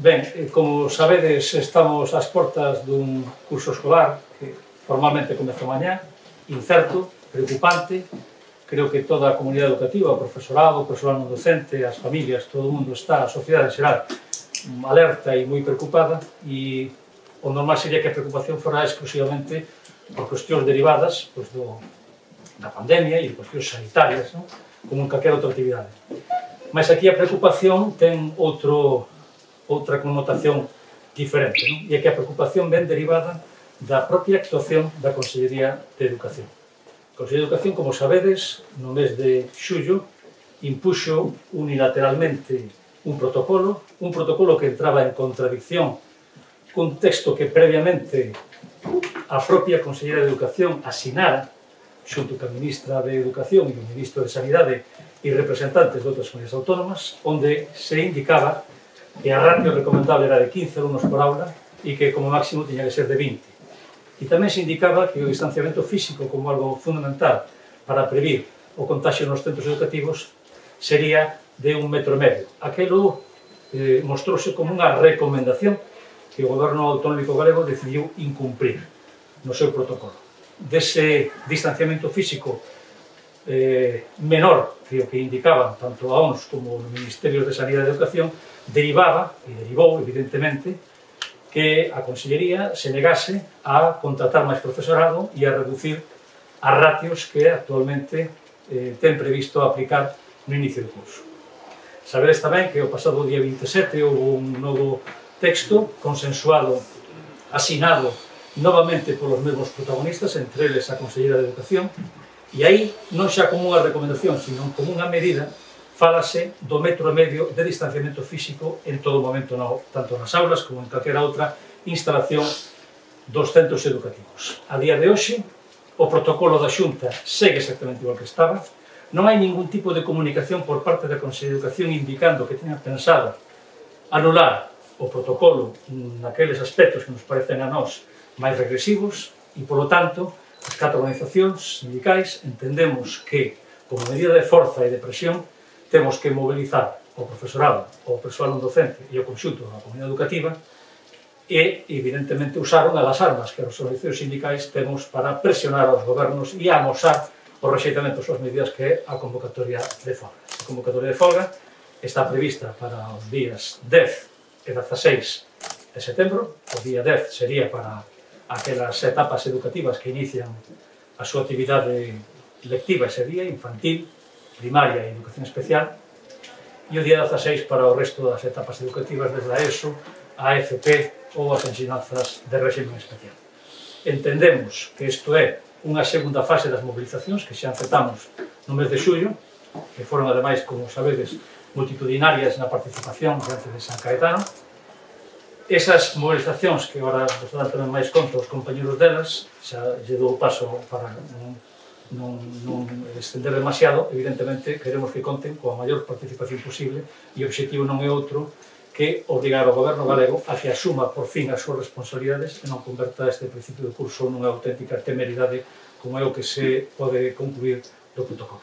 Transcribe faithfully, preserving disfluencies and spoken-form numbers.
Ben, como sabedes, estamos ás portas dun curso escolar que formalmente comeza mañá, incerto, preocupante. Creo que toda a comunidade educativa, o profesorado, o persoal non docente, as familias, todo o mundo está, a sociedade en xeral, alerta e moi preocupada, e o normal sería que a preocupación fora exclusivamente por cuestións derivadas pois, do, da pandemia e cuestións sanitarias, non? Como en calquera outra actividade. Mas aquí a preocupación ten outro, outra connotación diferente, non? E é que a preocupación ven derivada da propia actuación da Consellería de Educación. A Consellería de Educación, como sabedes, no mes de xullo, impuxo unilateralmente un protocolo, un protocolo que entraba en contradicción cun texto que previamente a propia Consellería de Educación asinara xunto ca Ministra de Educación e o Ministro de Sanidade e representantes de outras comunidades autónomas, onde se indicaba que a ratio recomendable era de quince alumnos por aula e que como máximo tiña que ser de vinte. E tamén se indicaba que o distanciamento físico como algo fundamental para previr o contagio nos centros educativos sería de un metro e medio. Aquelo eh, mostrouse como unha recomendación que o Goberno Autonómico Galego decidiu incumprir no seu protocolo. Dese distanciamento físico eh, menor que o que indicaban tanto a O N S como o Ministerio de Sanidade e Educación, derivaba, e derivou, evidentemente, que a Consellería se negase a contratar máis profesorado e a reducir as ratios que actualmente eh, ten previsto aplicar no inicio do curso. Sabedes tamén que o pasado día vinte e sete houve un novo texto consensuado, asinado novamente polos mesmos protagonistas, entre eles a Conselleira de Educación, e aí non xa como unha recomendación, sino como unha medida, fálase do metro e medio de distanciamento físico en todo momento, no, tanto nas aulas como en calquera outra instalación dos centros educativos. A día de hoxe, o protocolo da Xunta segue exactamente igual que estaba, non hai ningún tipo de comunicación por parte da Consellería de Educación indicando que teña pensado anular o protocolo naqueles aspectos que nos parecen a nós máis regresivos e, polo tanto, as catro organizacións sindicais entendemos que, como medida de forza e de presión, temos que mobilizar o profesorado, o persoal non docente e o conxunto da comunidade educativa e, evidentemente, usaron as armas que as organizacións sindicais temos para presionar aos gobernos e amosar o rexeitamento das medidas que é a convocatoria de folga. A convocatoria de folga está prevista para os días dez e dezaseis de setembro. O día dez sería para aquelas etapas educativas que inician a súa actividade lectiva ese día, infantil, primaria e educación especial, e o día dezaseis para o resto das etapas educativas desde a ESO, a F P ou as ensinanzas de régimen especial. Entendemos que isto é unha segunda fase das mobilizacións que xa empezamos no mes de xullo, que foron, ademais, como sabedes, multitudinarias na participación diante de San Caetano. Esas mobilizacións, que agora vos dan tamén máis conta os compañeros delas, xa lle dou paso para non, non, non estender demasiado, evidentemente queremos que conten coa maior participación posible e o obxectivo non é outro que obrigar ao Goberno galego a que asuma por fin as súas responsabilidades e non converta este principio de curso nunha auténtica temeridade como é o que se pode concluir do protocolo.